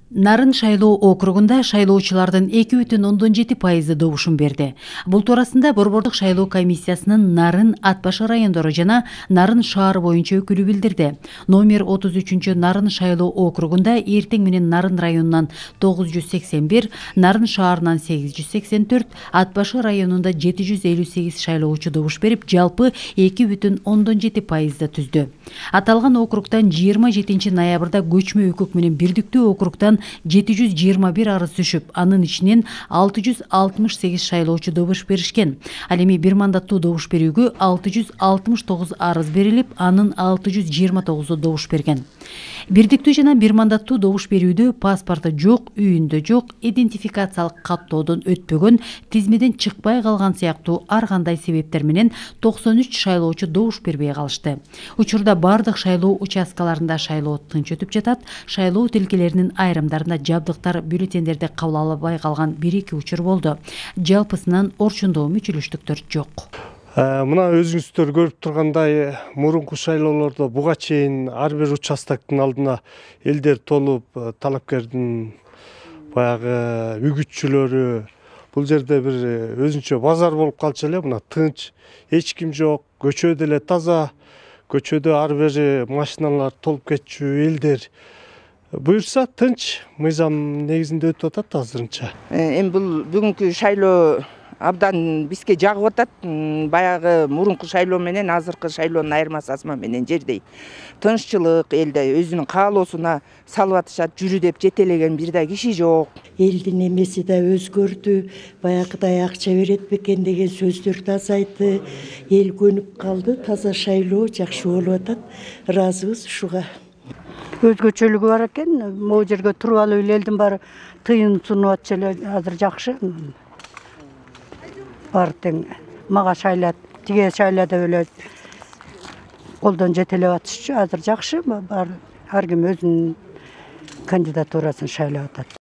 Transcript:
Нарын шайлоо округунда шайлоочулардын 2,7% добушун берди. Бул туурасында Борбордук шайлоо комиссиясынын Нарын, Ат башы райондору жана Нарын шаар боюнча өкүлү билдирди. Номер 33 Нарын шайлоо округунда эртең менен Нарын районунан 981, Нарын шаарынан 884, Ат башы районунда 758 шайлоочу добуш берип, жалпы 2,7% түздү. Аталган округтан 27 ноябрда көчмө өкүк менен бирдиктүү округтан 721 арыз түшүп, анын ичинен 668 шайлоочу добуш беришкен. Ал эми бир мандаттуу добуш берүүгө 669 арыз берилип, анын 629 добуш берген. Бирдиктүү жана бир мандаттуу добуш берүүдө паспорту жок, үйүндө жок, идентификациялык каттоодон өтпөгөн, тизмеден чыкпай калган сыяктуу ар кандай себептер менен 93 шайлоочу добуш бербей калышты. Учурда бардык шайлоо участкаларында шайлоо тынч өтүп жатат. Шайлоо тилкелеринин айрымдарында жабдыктар бюллетендерди кабыл албай калган 1-2 учур болду. Жалпысынан орчундоо мүчүлүштүктөр жок. Мына өзүңүздөр көрүп тургандай, мурунку шайлоолордо буга чейин ар бир участоктун алдына элдер толуп, талапкердин баягы үгүтчүлөрү, бул жерде бир өзүнчө базар болуп калчу эле. Мына тынч, эч ким жок, көчө деле таза, көчөдө ар бери машиналар толуп кетчү, элдер буюрса тынч, мыйзам негизинде өтүп атат азырынча. Эми бул бүгүнкү шайлоо абдан бизге жагып атат. Баягы мурунку шайлоо менен азыркы шайлоонун айырмасы асма менен жердей. Тынччылык, элде өзүнүн каалоосуна салып атышат, жүрү деп жетелеген бир да киши жок. Элдин эмеси да өзгөрдү, баягыдай акча берет бекен деген сөздөр да азайды. Эл көнүп калды, таза шайлоо жакшы болуп атат. Ыраазыбыз ушуга. Өзгөчөлүгү бар экен. Могу жерге туруп алып эле элдин баары тыйын сунуп атчу эле, азыр жакшы. Бар тең мага шайлат, тиге шайла деп эле колдон жетелеп атышчу. Азыр жакшы, бар ар ким өзүнүн кандидатурасын шайлап атат.